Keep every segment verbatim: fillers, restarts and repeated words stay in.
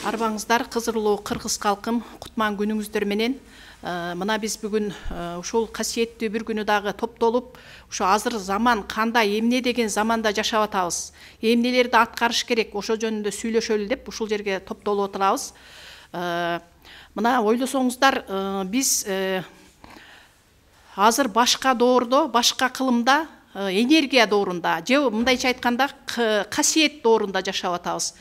Арбаңыздар, кызырлуу кыргыз калкым, кутман күнүңүздөр менен. Мына биз бүгүн ушул касиеттүү бир күнү дагы топтолуп, ушу азыр заман кандай, эмне деген заманда жашап атабыз, эмнелерди аткарыш керек, ошо жөнүндө сүйлөшөлү деп ушул жерге топтолуп отурабыз. Мына ойлосоңуздар, биз азыр башка доордо, башка кылымда, энергия доорунда, же мындайча айтканда касиет доорунда жашап атабыз.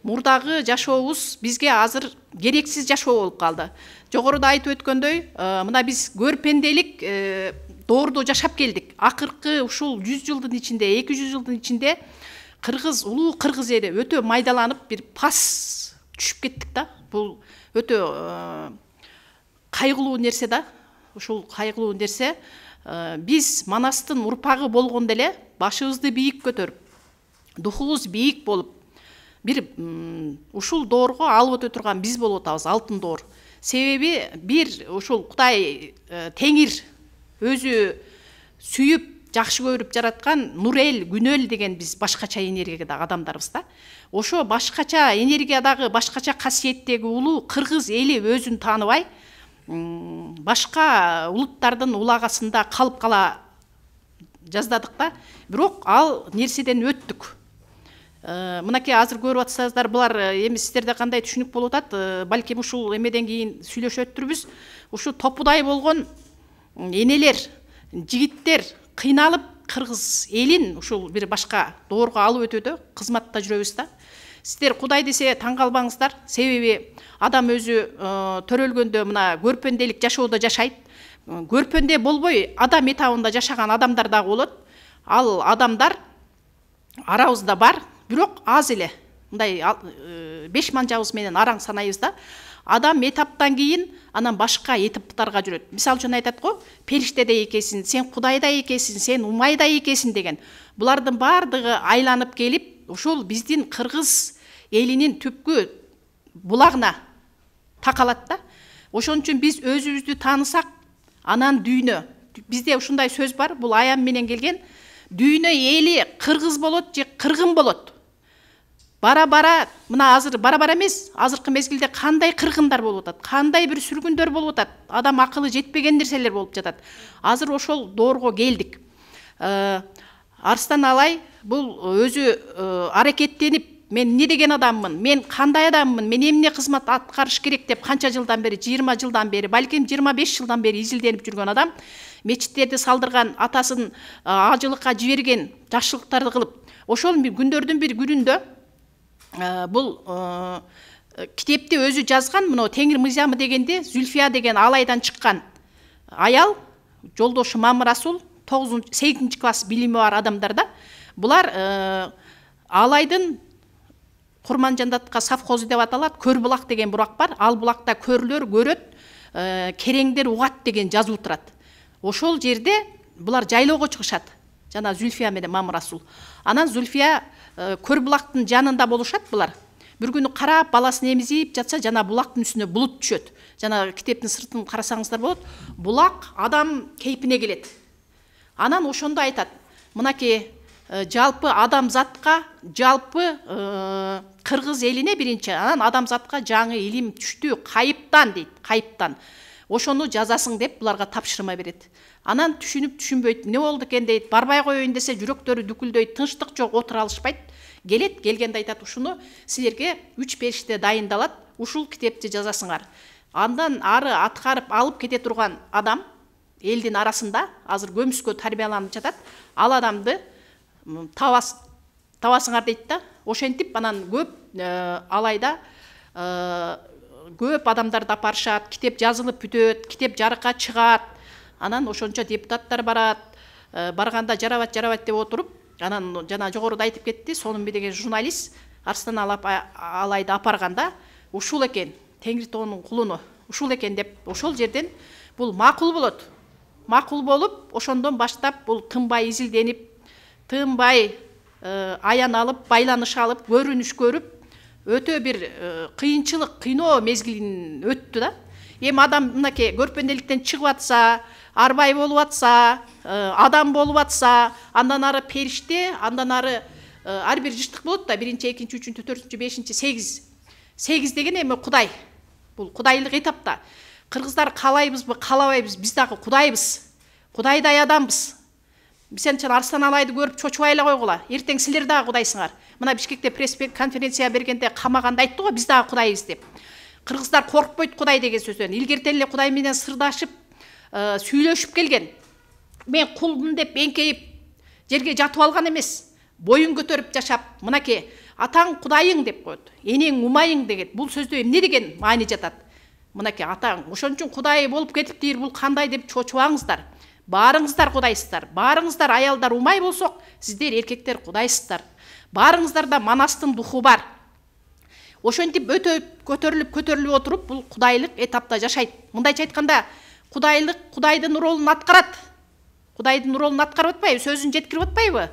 Мурдагы жашообуз бизге азыр керексиз жашоо болуп калды. Жогоруда айтып өткөндөй, мына биз көрпенделик доордо жашап келдик. Акыркы ушул жүз жылдын ичинде, эки жүз жылдын ичинде кыргыз, улуу кыргыз эли өтө майдаланып, бир пас түшүп кеттик да. Бул өтө кайгылуу нерсе да. Ушул кайгылуу нерсе. Биз Манастын урпагы болгондо эле башыбызды бийик көтөрүп, духубуз бийик болуп, бир ушул доорго алып өтө турган биз болуп атабыз, алтын доор. Себеби бир ушул Кудай Теңир өзү сүйүп, жакшы көрүп жараткан нур эл, күн эл деген биз башкача энергиядагы адамдарбыз да. Ошо башкача энергиядагы, башкача касиеттеги улуу кыргыз эли өзүн тааныбай, башка улуттардын улагасында калып кала жаздадык да. Бирок ал нерседен өттүк. Мынакей азыр көрүп атсаңыздар, булар эми сиздерде кандай түшүнүк болуп атат, балким ушул эмеден кийин сүйлөшөт турбуз. Ушу топудай болгон энелер, жигиттер кыйналып кыргыз элин ушул бир башка доорго алып өтөдө кызматта жүрөбүз да. Сиздер Кудай десе таң калбаңыздар, себеби адам өзү төрөлгөндө мына көрпөнделик жашоодо жашайт. Көрпөнде болбой адам этабында жашаган адамдар дагы болот. Ал адамдар арабызда бар, бирок аз эле. Мындай беш манжабыз менен араң санайбыз да. Адам этаптан кийин анан башка этаптарга жүрөт. Мисалы үчүн айтат го, периштеде экенсиң, сен Кудайда экенсиң, сен Умайда экенсиң деген. Булардын бардыгы айланып келип, ушул биздин кыргыз элинин түпкү булагына такалат да. Ошон үчүн биз өзүбүздү таанысак, анан дүйнө. Бизде ушундай сөз бар, бул аян менен келген. Дүйнө эли кыргыз болот же кыргын болот. Бара-бара, мына азыр бара-бара эмес, азыркы мезгилде кандай кыргындар болуп атат, кандай бир сүргүндөр болуп атат, адам акылы жетпеген нерселер болуп жатат. Азыр ошол доорго келдик. Арстан Алай бул өзү аракеттенип, мен эмне деген адаммын, мен кандай адаммын, мен эмне кызмат аткарыш керек деп канча жылдан бери, жыйырма жылдан бери, балким жыйырма беш жылдан бери изилденип жүргөн адам, мечиттерди салдырган, атасын ажылыкка жиберген, жакшылыктарды кылып, ошол күндөрдүн бир күнүндө бул китепти өзү жазган, мына Теңир мыйзамы дегенде Зүлфия деген Алайдан чыккан аял, жолдошу Мамырасул, сегизинчи класс билими бар адамдар да. Булар Алайдын Курманжандатка совхозу деп аталат, Көрбулак деген бурак бар. Ал булакта көрлөр көрөт, кереңдер угат деген жазуу турат. Ошол жерде булар жайлоого чыгышат. Жана Зүлфия менен Мамырасул. Анан Зүлфия Көрбулактын жанында болушат булар. Бир күнү карап, баласын эмизип жатса, жана булактын үстүнө булут түшөт. Жана китептин сыртын карасаңыздар болот. Булак адам кейпине келет. Анан ошондо айтат, мынакей жалпы адамзатка, жалпы кыргыз элине биринчи, анан адамзатка жаңы илим түштү, кайыптан дейт, кайыптан. Ошону жазасың деп буларга тапшырма берет. Анан түшүнүп түшүнбөйт, эмне болду экен дейт, барбай коеюн десе жүрөктөрү дүкүлдөйт, тынчтык жок, отура алышпайт. Келет, келгенде айтат, ушуну силерге үч периште дайындалат, ушул китепти жазасыңар. Андан ары аткарып алып кете турган адам элдин арасында азыр көмүскө тарбияланып жатат. Ал адамды табас табасыңар дейт да. Ошентип анан көп Алайда көп адамдарды апарышат, китеп жазылып бүтөт, китеп жарыкка чыгат. Анан ошончо депутаттар барат, барганда жарабат, жарабат деп отуруп, анан жана жогоруда айтып кетти, Сонунбей деген журналист Арстан Алайды апарганда, ушул экен, Теңиртоонун кулуну, ушул экен деп, ошол жерден бул макул болот. Макул болуп, ошондон баштап бул тынбай изилденип, тынбай аян алып, байланыш алып, көрүнүш көрүп, өтө бир кыйынчылык, кыйноо мезгилин өттү да. Эми адам мынакей көрпөнделиктен чыгып атса, арбай болуп атса, адам болуп атса, андан ары периште, андан ары ар бир жыштык болот да, биринчи, экинчи, үчүнчү, төртүнчү, бешинчи, сегиз сегиз деген эми Кудай. Бул кудайлык этапта. Кыргыздар каалайбызбы, каалабайбыз, биз дагы Кудайбыз. Кудайдай адамбыз. Биз анча Арстан Алайды көрүп чочубай эле койгула. Эртең силер дагы Кудайсыңар. Мына Бишкекте пресс конференция бергенде камаганда айтты го, биз дагы Кудайбыз деп. Кыргыздар коркпойт Кудай деген сөздөн. Илгертен эле Кудай менен сырдашып, сүйлөшүп келген. Мен кулмун деп эңкейип жерге жатып алган эмес. Боюн көтөрүп жашап, мынакей атаң Кудайың деп коет. Энең умайың деген. Бул сөздө эмне деген маани жатат? Мынакей атаң ошон үчүн Кудай болуп кетиптир, бул кандай деп чочубаңыздар. Баарыңыздар Кудайсыздар. Баарыңыздар аялдар умай болсок, сиздер эркектер Кудайсыздар. Баарыңыздарда Манастын духу бар. Ошентип өтө көтөрүлүп көтөрүлүп отуруп, бул кудайлык этапта жашайт. Мындайча айтканда, кудайлык Кудайдын ролун аткарат. Кудайдын ролун аткарып атпайбы, сөзүн жеткирип атпайбы?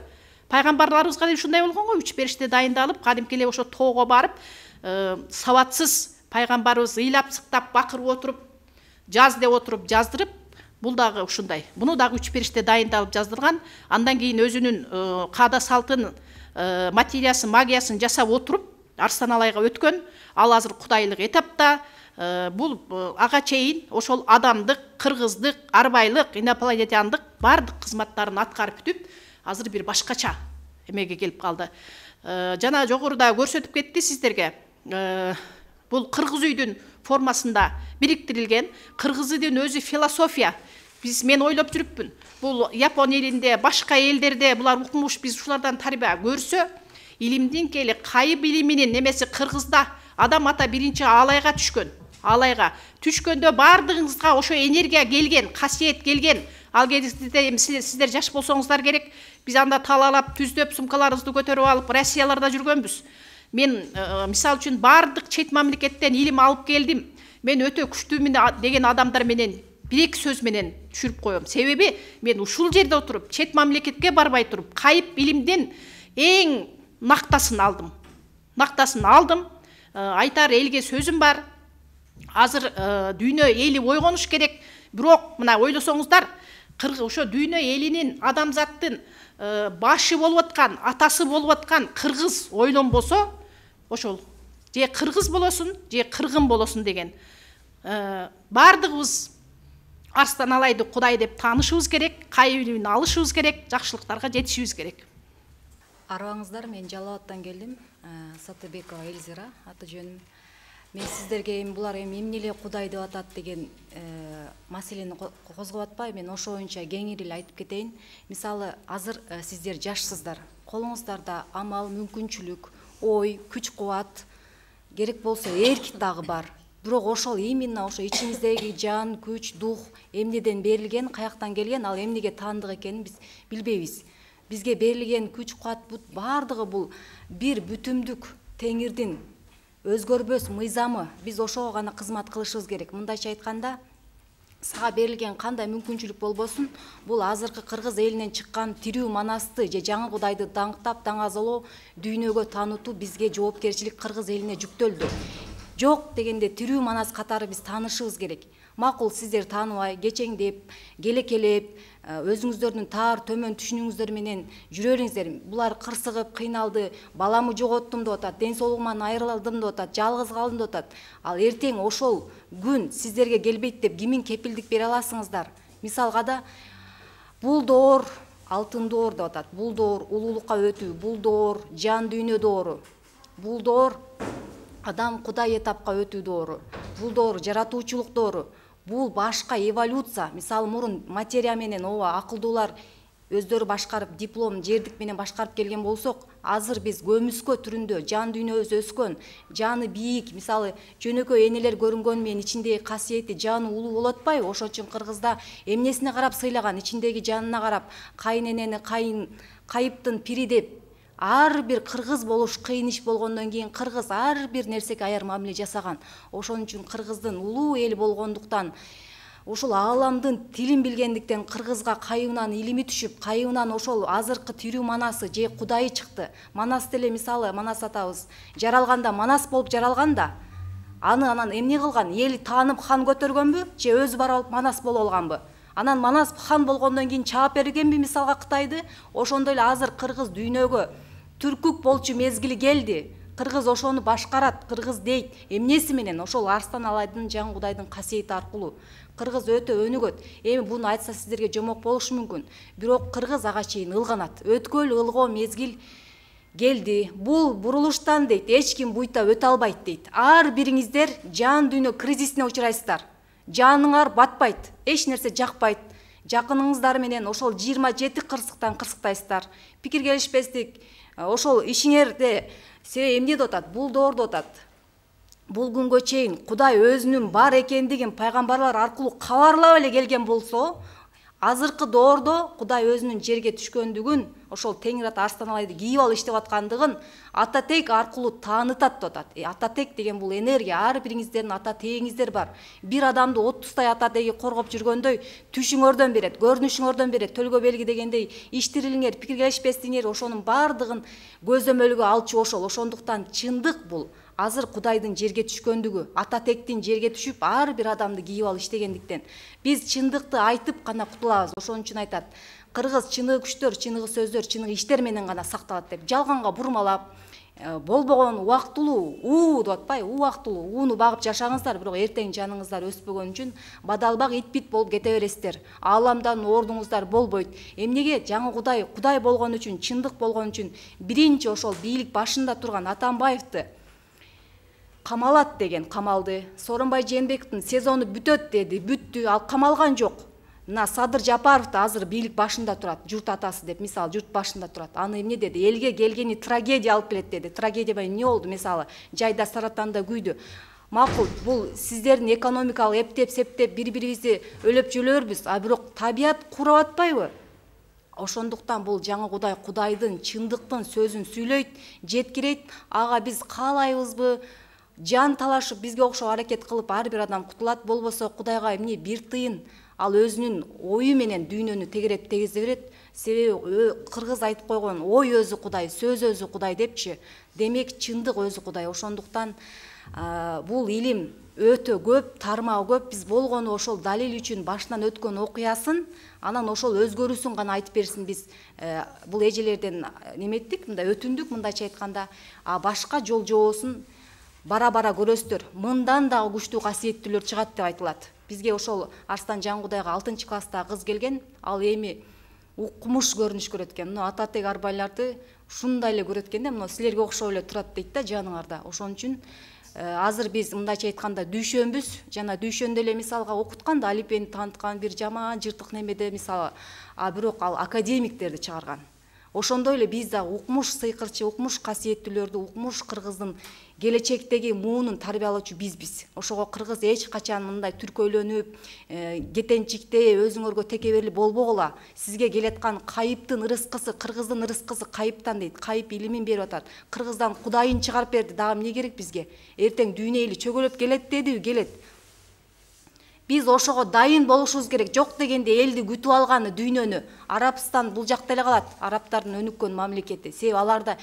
Пайгамбарларыбызга да ушундай болгон го, үч периште дайындалып, кадимки эле ошо тоого барып, сабатсыз пайгамбарыбыз ыйлап сыктап бакырып отуруп, жаз деп отуруп жаздырып, бул дагы ушундай. Буну дагы үч периште дайындалып жаздырган. Андан кийин өзүнүн каада салтын, материясын, магиясын жасап отуруп, Арстан Алайга өткөн. Ал азыр кудайлык этапта. Бул ага чейин ошол адамдык, кыргыздык, арбайлык, инопланетяндык бардык кызматтарын аткарып бүтүп, азыр бир башкача эмеге келип калды. Жана жогоруда көрсөтүп кетти сиздерге. Бул кыргыз үйдүн формасында бириктирилген. Кыргыздын өзү философия. Биз мен ойлоп жүрүппүн. Бул Япон элинде, башка элдерде булар укмуш, биз ушулардан тарбия көрсө, илимдин кели кайып илиминин немеси кыргызда адам ата биринчи Алайга түшкөн. Алайга түшкөндө бардыгыңызга ошо энергия келген, касиет келген. Ал кезде сиздер жаш болсоңуздар керек. Биз анда талалап, түздөп, сумкаларыбызды көтөрүп алып, Россияларда жүргөнбүз. Мен мисал үчүн бардык чет мамлекеттен илим алып келдим. Мен өтө күчтүүмүн деген адамдар менен бир-эки сөз менен түшүрүп коем. Себеби мен ушул жерде отуруп, чет мамлекетке барбай туруп, кайып илимдин эң нактасын алдым. Нактасын алдым. Айтар элге сөзүм бар. Азыр дүйнө эли ойгонуш керек. Бирок мына ойлосоңуздар, ошо дүйнө элинин, адамзаттын башы болуп аткан, атасы болуп аткан кыргыз ойлонбосо, ошол же кыргыз болосун, же кыргын болосун деген. Бардыгыбыз Арстан Алайды Кудай деп таанышыбыз керек, кайып илимин алышыбыз керек, жакшылыктарга жетишибиз керек. Арыбаңыздар, мен Жалал абадтан келдим. Сатыбекова Эльзира аты жөнүм. Мен сиздерге эми булар эми эмне эле Кудай деп атат деген маселени козгоп атпай, мен ошо боюнча кеңири эле айтып кетейин. Мисалы, азыр сиздер жашсыздар. Колуңуздарда амал, мүмкүнчүлүк, ой, күч-кубат, керек болсо эрк дагы бар. Бирок ошол именно ошо ичиңиздеги жан, күч, дух эмнеден берилген, каяктан келген, ал эмнеге таандык экенин биз билбейбиз. Бизге берилген күч-кубат бардыгы бул бир бүтүмдүк Теңирдин өзгөрбөс мыйзамы. Биз ошого гана кызмат кылышыбыз керек. Мындайча айтканда, сага берилген кандай мүмкүнчүлүк болбосун, бул азыркы кыргыз элинен чыккан тирүү манасты же жаңы Кудайды даңктап, даңазалоо, дүйнөгө таанытуу бизге жоопкерчилик кыргыз элине жүктөлдү. Жок дегенде тирүү манас катары биз таанышыбыз керек. Макул сиздер тааныбай, кечеңдеп, келекелеп, өзүңүздөрдүн таар төмөн түшүнүңүздөр менен жүрө бериңиздер. Булар кырсыгып, кыйналды, баламы жоготтум деп атат, ден соолугуман айрылдым деп атат, жалгыз калдым деп атат. Ал эртең ошол күн сиздерге келбейт деп кимин кепилдик бере аласыңыздар? Мисалга да бул доор алтын доор деп атат. Бул доор улуулукка өтүү, бул доор жан дүйнө доору. Бул доор адам Кудай этапка өтүү доору. Бул доор жаратуучулук доору. Бул башка эволюция. Мисалы, мурун материя менен ооба акылдуулар өздөрү башкарып, диплом, жердик менен башкарып келген болсок, азыр биз көмүскө түрүндө жан дүйнөбүз өскөн, жаны бийик, мисалы, жөнөкөй энелер көрүнгөн менен ичиндеги касиети жаны улуу болуп атпайбы? Ошон үчүн кыргызда эмнесине карап сыйлаган, ичиндеги жанына карап, кайын кайын кайыптын пири деп, ар бир кыргыз болуш кыйын иш болгондон кийин кыргыз ар бир нерсеге аяр мамиле жасаган. Ошон үчүн кыргыздын улуу эл болгондуктан, ушул ааламдын тилин билгендиктен кыргызга кайыбынан илими түшүп, кайыбынан ошол азыркы тирүү манасы же Кудайы чыкты. Манас деле, мисалы, Манас атабыз жаралганда Манас болуп жаралган да, аны анан эмне кылган? Эл таанып хан көтөргөнбү же өзү барып алып Манас болуп алганбы? Анан Манас хан болгондон кийин чаап бергенби мисалга Кытайды? Ошондой эле азыр кыргыз дүйнөгө түркүк болчу мезгили келди. кыргыз ошону башкарат, кыргыз дейт. Эмнеси менен? Ошол Арстан Алайдын Жан Кудайдын касиети аркылуу. Кыргыз өтө өнүгөт. Эми буну айтса сиздерге жомок болушу мүмкүн. Бирок кыргыз ага чейин ылганат. Өткөл ылгоо мезгил келди. Бул бурулуштан дейт, эч ким буйта өтө албайт дейт. Ар бириңиздер жан дүйнө кризисине учурайсыздар. Жаныңар батпайт, эч нерсе жакпайт. Жакыныңыздар менен ошол жыйырма жети кырсыктан кырсыктайсыздар. Пикир келишпестик, ошол ишиңерде себеби эмне деп атат? Бул доордо атат. Бул күнгө чейин Кудай өзүнүн бар экендигин пайгамбарлар аркылуу кабарлап эле келген болсо, азыркы доордо Кудай өзүнүн жерге түшкөндүгүн, ошол Теңир ата Арстан Алайды кийип алып иштеп аткандыгын ата тек аркылуу таанытат деп атат. Э, ата тек деген бул энергия, ар бириңиздердин ата тегиңиздер бар. Бир адамды отуздай ата теги коргоп жүргөндөй түшүңөрдөн берет, көрүнүшүңөрдөн берет, төлгө белги дегендей иштирилиңер, пикир келишпестигиңер, ошонун баардыгын көзөмөлгө алчу ошол. Ошондуктан чындык бул. Азыр Кудайдын жерге түшкөндүгү, ата тектин жерге түшүп, ар бир адамды кийип алып иштегендиктен биз чындыкты айтып гана кутулабыз. Ошон үчүн айтат, кыргыз чыныгы күчтөр, чыныгы сөздөр, чыныгы иштер менен гана сакталат деп. Жалганга бурмалап, болбогон убактылуу уу деп атпайбы? Убактылуу ууну багып жашаңыздар, бирок эртең жаныңыздар өспөгөн үчүн бадалбак ит-бит болуп кете бересиздер. Ааламдан ордуңуздар болбойт. Эмнеге? Жаңы Кудай, Кудай болгон үчүн, чындык болгон үчүн биринчи ошол бийлик башында турган Атамбаевди камалат деген камалды. Сооронбай Жээнбековдун сезону бүтөт деди, бүттү, ал камалган жок. Мына Садыр Жапаров да азыр бийлик башында турат, журт атасы деп, мисалы, журт башында турат. Аны эмне деди? Элге келгени трагедия алып келет деди. Трагедия менен эмне болду? Мисалы, жайда саратанда күйдү. Макул, бул сиздердин экономикалык эптеп-септеп бири-бирибизди өлөп жөлөрбүз, а бирок табият курап атпайбы? Ошондуктан бул жаңы Кудай Кудайдын чындыктын сөзүн сүйлөйт, жеткирейт. Ага биз каалайбызбы? Жан талашып бизге окшоп аракет кылып ар бир адам кутулат, болбосо Кудайга эмне бир тыйын ал өзүнүн ою менен дүйнөнү тегереп тегизе берет. Себеби кыргыз айтып койгон ой өзү Кудай, сөз өзү Кудай депчи. Демек чындык өзү Кудай. Ошондуктан бул илим өтө көп, тармагы көп. Биз болгону ошол далил үчүн башынан өткөн окуясын, анан ошол өзгөрүүсүн гана айтып берсин. Биз бул эжелерден неметтик, мындай өтүндүк, мындайча айтканда, а башка жол жоосун бара-бара көрөсүздөр. Мындан дагы күчтүү касиеттүүлөр чыгат деп айтылат. Бизге ошол Арстан Жан Кудайга алтынчы класста кыз келген, ал эми укмуш көрүнүш көрөт экен. Мына ата тег арбайларды ушундай эле көрөт экен да, мына силерге окшоп эле турат дейт да жаныңарда. Ошон үчүн азыр биз мындайча айтканда дүйшөнбүз, жана дүйшөндө эле мисалга окуткан да, алипени тааныткан бир жаман жыртык немеде мисалы, а бирок ал академиктерди чыгарган. Ошондой эле биз да укмуш сыйкырчы, укмуш касиеттүүлөрдү, укмуш кыргыздын келечектеги муунун тарбиялоочу бизбиз. Ошого кыргыз эч качан мындай түркөйлөнүп, кетенчиктей, өзүңөргө текеберлик болбогула. Сизге келаткан кайыптын ырыскысы, кыргыздын ырыскысы кайыптан дейт. Кайып илимин берип атат. Кыргыздан Кудайын чыгарып берди. Дагы эмне керек бизге? Эртең дүйнө эли чөгөлөп келет дедиби? Келет. Биз ошого дайын болушубуз керек. Жок дегенде элди күтүп алганы дүйнөнү. Арабстан бул жакта эле калат. Арабтардын өнүккөн мамлекети. Себеби аларда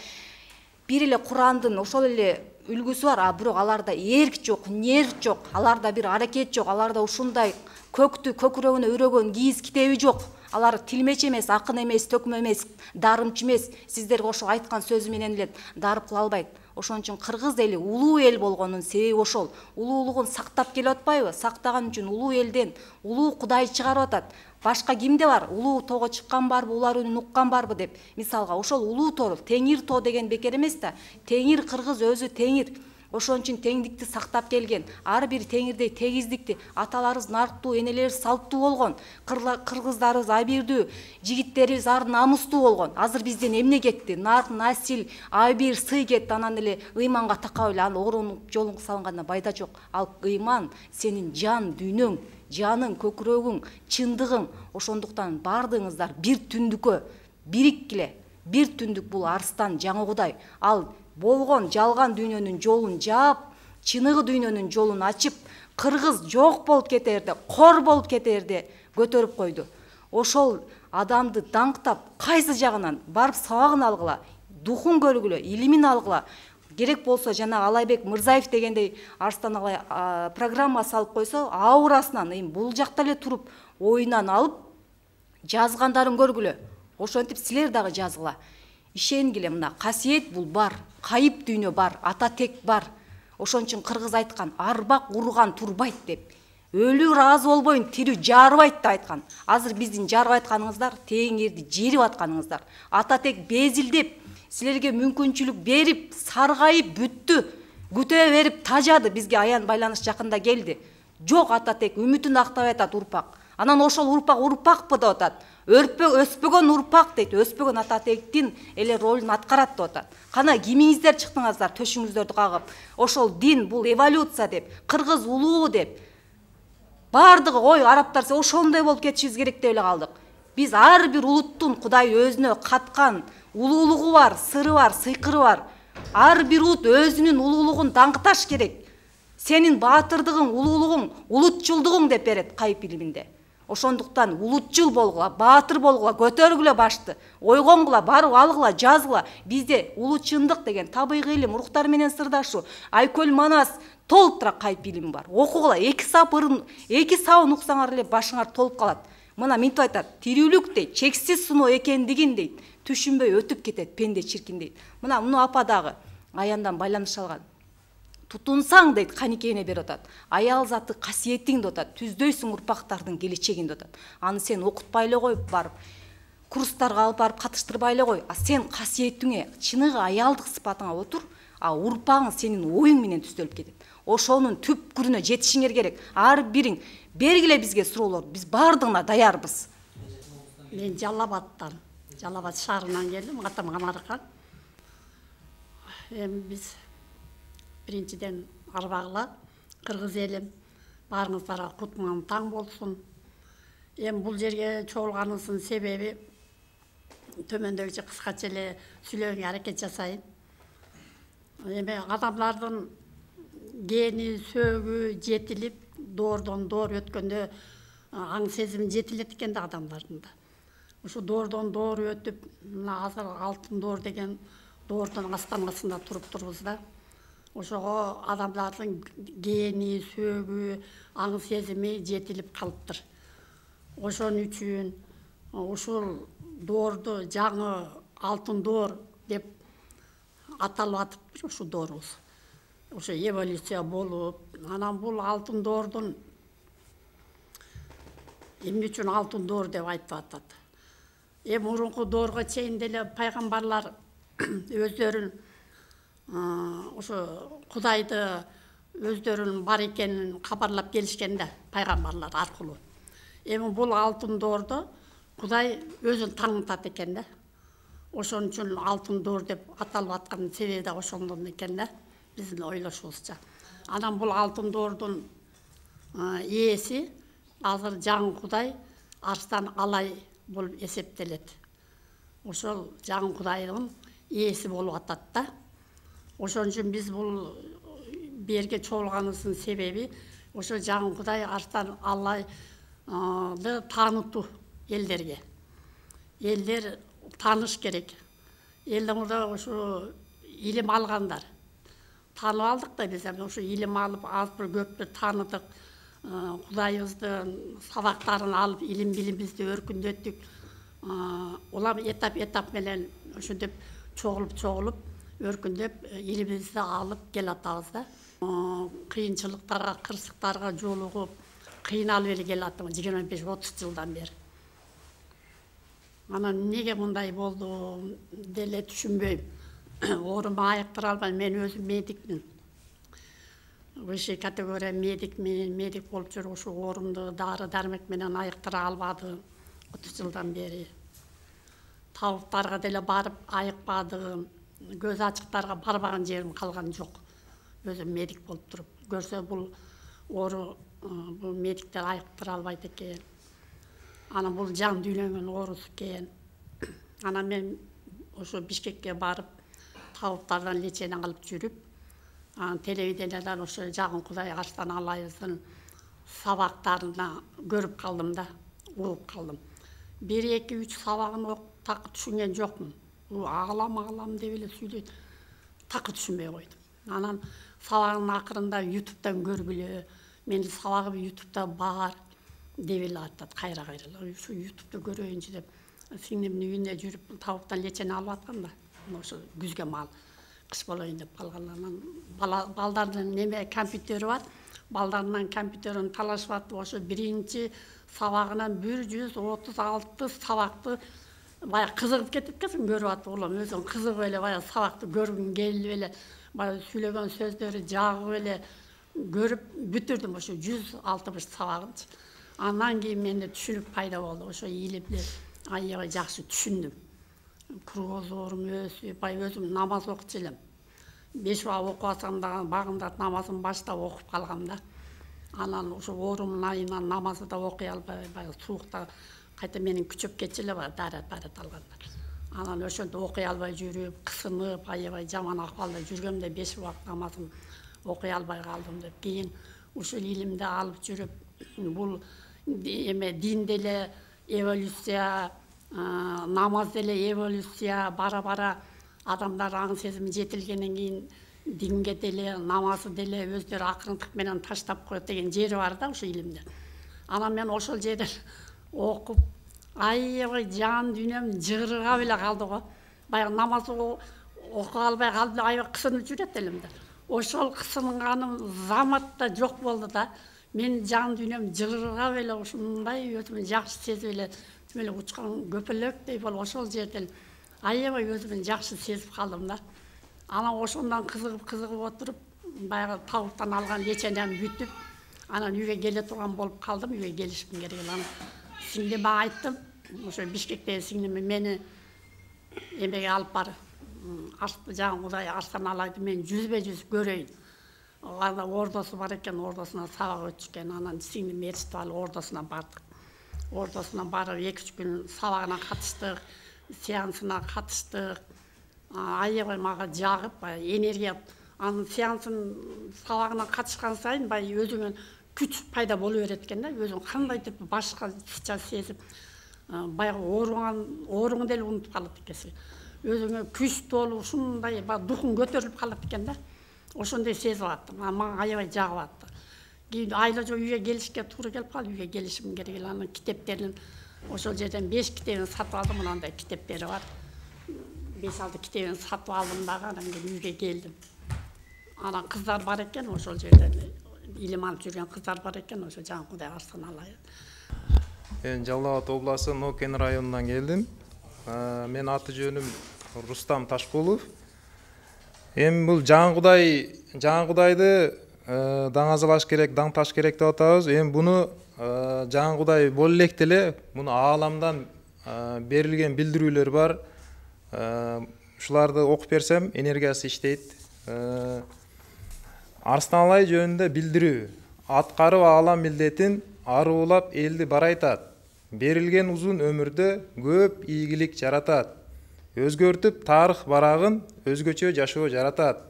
бир эле Курандын ошол эле үлгүсү бар, а бирок аларда эрк жок, нерв жок, аларда бир аракет жок, аларда ушундай көктү көкүрөгүнө өрөгөн кийиз китеби жок. Алар тилмеч эмес, акын эмес, төкмө эмес, дарымчы эмес. Сиздерге ошо айткан сөзү менен эле дарып кыла албайт. Ошон үчүн кыргыз эли улуу эл болгонун себеби ошол. Улуулугун сактап келип атпайбы? Сактаган үчүн улуу элден улуу Кудай чыгарып атат. Башка кимде бар? Улуу тоого чыккан барбы, улар үнүн уккан барбы деп. Мисалга ошол улуу тоо, Теңир тоо деген бекер эмес да. Теңир кыргыз өзү Теңир. Ошон үчүн теңдикти сактап келген. Ар бир теңирдей тегиздикти аталарыбыз нарктуу, энелерибиз салттуу болгон. Кыргыздарыбыз абийирдүү, жигиттерибиз ар намустуу болгон. Азыр бизден эмне кетти? Нарк, насил, абийир, сый кетти. Анан эле ыйманга такап эле аны оорунуп жолун салгандан пайда жок. Ал ыйман сенин жан дүйнөң, жаның, көкүрөгүң, чындыгың. Ошондуктан бардыгыңыздар бир түндүккө бириккиле. Бир түндүк бул Арстан жаңы Кудай. Ал болгон жалган дүйнөнүн жолун жаап, чыныгы дүйнөнүн жолун ачып, кыргыз жок болуп кетерде, кор болуп кетерде көтөрүп койду. Ошол адамды даңктап, кайсы жагынан барып сабагын алгыла, духун көргүлө, илимин алгыла. Керек болсо жана Алайбек Мырзаев дегендей Арстан Алай программа салып койсо, аурасынан, эми бул жакта эле туруп, оюнан алып, жазгандарын көргүлө. Ошентип силер дагы жазгыла. ишенгиле, мына касиет бул бар, кайып дүйнө бар, ата тек бар. Ошон үчүн кыргыз айткан, арбак урган турбайт деп. Өлүү ыраазы болбойн, тирүү жарбайт деп айткан. Азыр биздин жарбай атканыңыздар, теңирди жерип атканыңыздар. Ата тек безилдеп, силерге мүмкүнчүлүк берип, саргайып бүттү. Күтө берип тажады, бизге аян байланыш жакында келди. Жок, ата тек үмүтүн актабай атат урпак. Анан ошол урпак урпакпы деп атат. Өрпө өспөгөн урпак дейт, өспөгөн ата тектин эле ролун аткарат деп атат. Кана кимиңиздер чыктыңыздар төшүңүздөрдү кагып, ошол дин бул эволюция деп, кыргыз улуу деп. Бардыгы ой арабтар ошондой болуп кетишибиз керек деп эле калдык. Биз ар бир улуттун Кудай өзүнө каткан улуулугу бар, сыры бар, сыйкыры бар. Ар бир улут өзүнүн улуулугун даңкташ керек. Сенин баатырдыгың, улуулугуң, улутчулдугуң деп берет кайып илиминде. Ошондуктан улутчул болгула, баатыр болгула, көтөргүлө башты, ойгонгула, барып алгыла, жазгыла. Бизде улуу чындык деген табигый илим, руктар менен сырдашуу, Айкөл Манас толуктура кайып илим бар. Окугула, эки сапырын, эки сабын уксаңар эле башыңар толуп калат. Мына минтип айтат, тирүүлүк дейт, чексиз суноо экендигин дейт, түшүнбөй өтүп кетет пенде чиркин дейт. Мына муну апа дагы аяндан байланыш алган. Тутунсаң дейт, каникейине берип атат. Аял заты касиетиң деп атат. Түздөйсүң урпактардын келечегин деп атат. Аны сен окутпай эле коюп барып, курстарга алып барып катыштырбай эле кой. А сен касиетиңе, чыныгы аялдык сыпатыңа отур, а урпагың сенин оюң менен түздөлүп кетет. Ошонун түпкүрүнө жетишиңер керек. Ар бириң бергиле бизге суроолор. Биз бардыгына даярбыз. Мен Жалал-Абадтан, Жалал-Абад шаарынан келдим, атам Камаркан. Эми биз биринчиден арбагыла, кыргыз элим, баарыңыздарга кутман таң болсун. Эми бул жерге чогулганыбыздын себеби төмөндөгүчө кыскача эле сүйлөөгө аракет жасайын. Эми адамдардын гени, сөөгү жетилип, доордон доор өткөндө аң сезими жетилет экен да адамдардын да. Ушу доордон доор өтүп, мына азыр алтын доор деген доордун астанасында туруп турбуз да. Ошого адамдардын гени, сөөгү, аң сезими жетилип калыптыр. Ошон үчүн ушул доорду жаңы алтын доор деп аталып атып ушу доорубуз. Ошо эволюция болуп, анан бул алтын доордун эмне үчүн алтын доор деп айтып атат. Эми мурунку доорго чейин деле пайгамбарлар өздөрүн ошо Кудайды өздөрүнүн бар экенин кабарлап келишкен да, пайгамбарлар аркылуу. Эми бул алтын доордо Кудай өзүн таңытат экен да. Ошон үчүн алтын доор деп аталып аткан себеби да ошондон экен да, биздин ойлошубузча. Анан бул алтын доордун ээси азыр жаңы Кудай Арстан Алай болуп эсептелет. Ошол жаңы Кудайдын ээси болуп атат да. Ошон үчүн биз бул берге чогулганыбыздын себеби ошо жаңы Кудай Арстан Алайды таанытуу элдерге. Элдер тааныш керек. Элдерде ошо илим алгандар. Таанып алдык да биз, ошо илим алып, аз бир көп бир тааныдык. Кудайыбыздын сабактарын алып, илим билимибизди өркүндөттүк. Улам этап-этап менен ошентип чогулуп-чогулуп, өркүндөп, илимибизди алып келатабыз да. Кыйынчылыктарга, кырсыктарга жолугуп, кыйналып эле келатам жыйырма беш отуз жылдан бери. Анан неге мындай болду деле түшүнбөйм. Оорумду айыктыра албайм, мен өзүм медикмин. Высший категория медикмин, медик болуп жүрүп ушу оорумду дары дармек менен айыктыра албадым отуз жылдан бери. Табыптарга деле барып айыкпадым. Көз ачыктарга барбаган жерим калган жок. Өзүм медик болуп туруп, көрсө бул оору бул медиктер айыктыра албайт экен. Анан бул жан дүйнөнүн оорусу экен. Анан мен ошо Бишкекке барып, табыптардан лечение алып жүрүп, анан телевидениедан ошо жаңы Кудай Арстан Алайыбыздын сабактарына көрүп калдым да, угуп калдым. бир эки үч сабагын такы түшүнген жокмун. Бул агалам агалам деп эле сүйлөйт. Такы түшүнбөй койдум. Анан сабагынын акырында ютубтан көргүлө, менин сабагым ютубта бар деп эле айтат, кайра-кайра. Ушу ютубта көрөйүнчү деп сиңдимдин үйүнө жүрүп табыттан лечение алып аткам да. Ошо күзгө мал кыш болоюн деп калгандарынан балдардын неме компьютери бар. Балдарынан компьютерин талашып атып, ошо биринчи сабагынан бир жүз отуз алты сабакты баягы кызыгып кетип экен, көрүп атып, улам өзүң кызыгып эле баягы сабакты көргүң келип эле, баягы сүйлөгөн сөздөрү жагып эле көрүп бүтүрдүм ошо жүз алтымыш сабагынчы. Андан кийин менде түшүнүк пайда болду. Ошо илимди аябай жакшы түшүндүм. Кругозорум өсүп, баягы өзүм намаз окучу элем. беш бак окуп атсам дагы багымдат намазын баштап окуп калгам да. Анан ошо оорумдун айынан намазды да окуй албай, баягы суукта кайта менин күчөп кетчү эле баягы дарат барат алганда. Анан ошентип окуй албай жүрүп, кысынып, аябай жаман акыбалда жүргөмдө беш бак намазын окуй албай калдым деп. Кийин ушул илимди алып жүрүп, бул эме дин деле эволюция, намаз деле эволюция, бара-бара адамдар аң сезими жетилгенден кийин динге деле, намазы деле өздөрү акырындык менен таштап коет деген жери бар да ошо илимде. Анан мен ошол жерден окуп, аябай жан дүйнөм жыгыргап эле калды го. Баягы намаз окуй албай калдым, аябай кысынып жүрөт элем да. Ошол кысынганым заматта жок болду да. Мен жан дүйнөм жыгыргап эле ушундай өзүмүн жакшы сезип эле, тим эле учкан көпөлөктөй болуп ошол жерден аябай өзүмүн жакшы сезип калдым да. Анан ошондон кызыгып кызыгып отуруп, баягы табыттан алган лечениям бүтүп, анан үйгө келе турган болуп калдым, үйгө келишим керек. Анан сиңдиме айттым, ошо Бишкектеги сиңдими мени эмеге алып бар. Жаңы Кудай Арстан Алайды мен жүзбө жүз көрөйүн. Анда ордосу бар экен, ордосуна сабак өтүшкөн. Анан сиңдим ээрчитип алып ордосуна бардык. Ордосуна барып эки үч күн сабагына катыштык, сеансына катыштык. Аябай мага жагып, энергия, анын сеансын сабагына катышкан сайын баягы өзүңө күч пайда боло берет экен да, өзүң кандайдыр башкача сезип, баягы ооруган, ооруңду деле унутуп калат экенсиң. Өзүңө күч толуп, ушундай духуң көтөрүлүп калат экен да. Ошондой сезип аттым. Мага аябай жагып атты. Кийин айла жок үйгө келишке туура келип калды, үйгө келишим керек. Анын китептерин ошол жерден беш китебин сатып алдым, мындай китептери бар. беш алты китебин сатып алдым дагы, анан кийин үйгө келдим. Анан кыздар бар экен, ошол жерден илим алып жүргөн кыздар бар экен, ошо жаңы Кудай Арстан Алайды. Мен Жалал Абад областы Нокен районунан келдим. Мен аты жөнүм Рустам Ташкулов. Эми бул жаңы Кудай, жаңы Кудайды даңазалаш керек, даң таш керек деп атабыз. Эми буну жаңы Кудай боло электе эле, муну ааламдан берилген билдирүүлөр бар. Ушуларды окуп берсем, энергиясы иштейт. Арстан Алай жөнүндө билдирүү. Аткарып аалам милдетин аруулап элди барайтат. Берилген узун өмүрдө көп ийгилик жаратат. Өзгөртүп тарых барагын өзгөчө жашоо жаратат.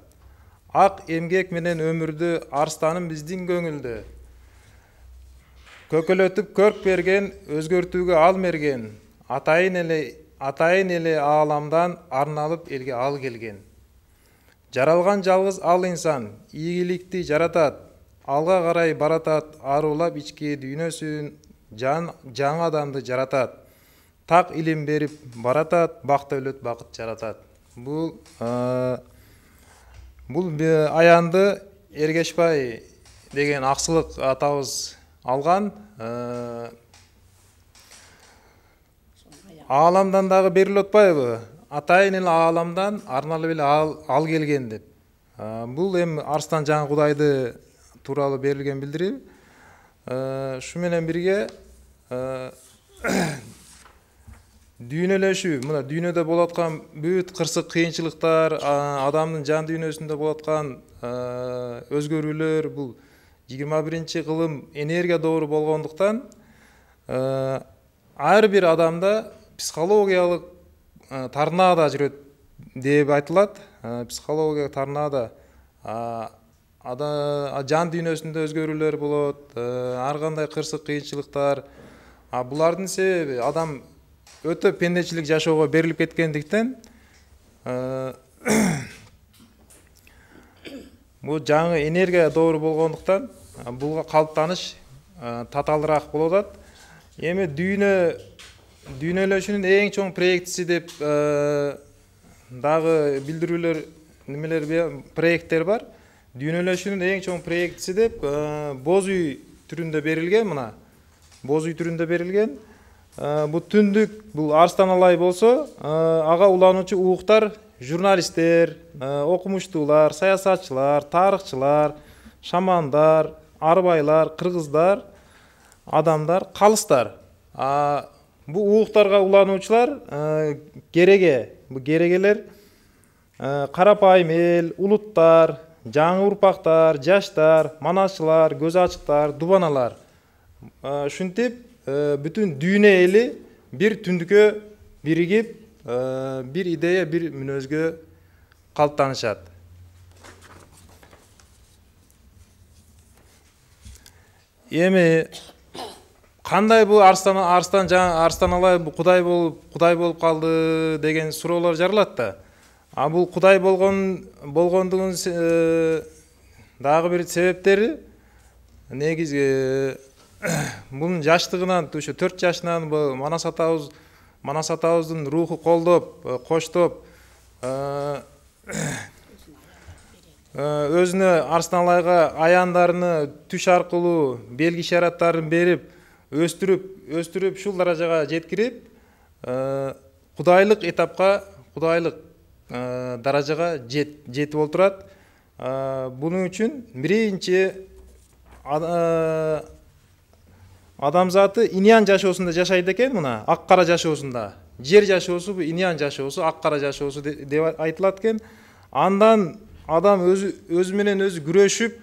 Ак эмгек менен өмүрдү арстаным биздин көңүлдө. Көкөлөтүп көрк берген, өзгөртүүгө ал мерген. Атайын эле, атайын эле ааламдан арналып элге ал келген. Жаралган жалгыз ал инсан ийгиликти жаратат. Алга карай баратат, аруулап ички дүйнөсүн, жан жаңы адамды жаратат. Так илим берип баратат, бак дөлөт бакыт жаратат. Бул бул аянды Эргешбай деген аксылык атабыз алган. Ааламдан дагы берилип атпайбы? Атайын эле ааламдан арналып эле ал, ал келген деп. Бул эми Арстан жаңы Кудайды тууралуу берилген билдирүү. Ушу менен бирге дүйнөлөшүү, мына дүйнөдө болуп аткан бүт кырсык кыйынчылыктар, адамдын жан дүйнөсүндө болуп аткан өзгөрүүлөр, бул жыйырма биринчи кылым энергия доору болгондуктан ар бир адамда психологиялык торнадо жүрөт деп айтылат. Психологиялык торнадо жан дүйнөсүндө өзгөрүүлөр болот, ар кандай кырсык кыйынчылыктар. Булардын себеби адам өтө пендечилик жашоого берилип кеткендиктен бул жаңы энергия доору болгондуктан буга калыптаныш татаалыраак болуп атат. Эми дүйнө дүйнөлөшүүнүн эң чоң проектиси деп дагы билдирүүлөр немелер проекттер бар. Дүйнөлөшүүнүн эң чоң проектиси деп боз үй түрүндө берилген, мына боз үй түрүндө берилген. Бул түндүк, бул Арстан Алай болсо, ага улануучу ууктар журналисттер, окумуштуулар, саясатчылар, тарыхчылар, шамандар, арбайлар, кыргыздар, адамдар, калыстар. Бул ууктарга улануучулар кереге, бул керегелер карапайым эл, улуттар, жаңы урпактар, жаштар, манасчылар, көз ачыктар, дубаналар. Ушинтип бүтүн дүйнө эли бир түндүккө биригип, бир идея, бир мүнөзгө калыптанышат. Эми кандай бул Арстан Арстан жаңы Арстан Алай Кудай болуп Кудай болуп калды деген суроолор жаралат да. А бул Кудай болгон болгондугунун дагы бир себептери негизи бунун жаштыгынан, ушу төрт жашынан Манас атабыз Манас атабыздын руху колдоп, коштоп, өзүнө Арстан Алайга аяндарыны түш аркылуу белги ишараттарын берип, өстүрүп, өстүрүп ушул даражага жеткирип, кудайлык этапка, кудайлык даражага жетип олтурат. Бунун үчүн биринчи адамзаты иньян жашоосунда жашайт экен, мына ак кара жашоосунда. Жер жашоосу бул иньян жашоосу, ак кара жашоосу деп айтылат экен. Андан адам өзү өзү менен өзү күрөшүп,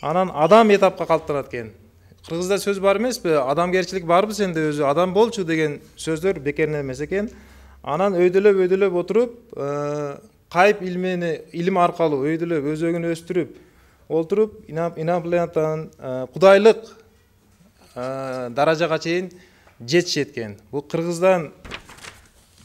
анан адам этапка калыптанат экен. Кыргызда сөз бар эмеспи? Адамгерчилик барбы сенде өзү? Адам болчу деген сөздөр бекеринен эмес экен. Анан өйдөлөп өйдөлөп отуруп, кайып илмени илим аркылуу өйдөлөп өзөгүн өстүрүп олтуруп, инопланетанын кудайлык даражага чейин жетишет экен. Бул Кыргыздан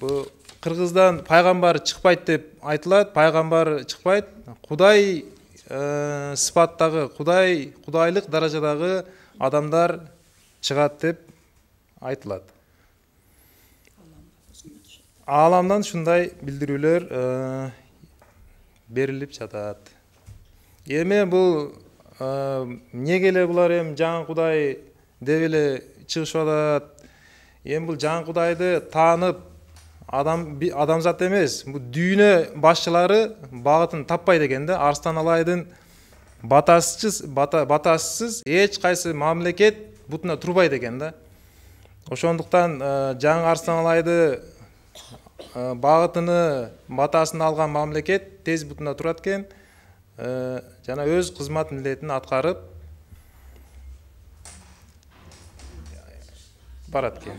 бул Кыргыздан пайгамбар чыкпайт деп айтылат. Пайгамбар чыкпайт. Кудай сыпаттагы, Кудай, кудайлык даражадагы адамдар чыгат деп айтылат. Ааламдан ушундай билдирүүлөр берилип жатат. Эми бул эмнеге эле булар эми жаңы Кудай деп эле чыгышып атат. Эми бул жаңы Кудайды таанып адам адамзат эмес, бул дүйнө башчылары багытын таппайт экен да. Арстан Алайдын батасысыз бата батасысыз эч кайсы мамлекет бутуна турбайт экен да. Ошондуктан жаңы Арстан Алайды багытыны, батасын алган мамлекет тез бутуна турат экен, жана өз кызмат милдетин аткарып барат экен.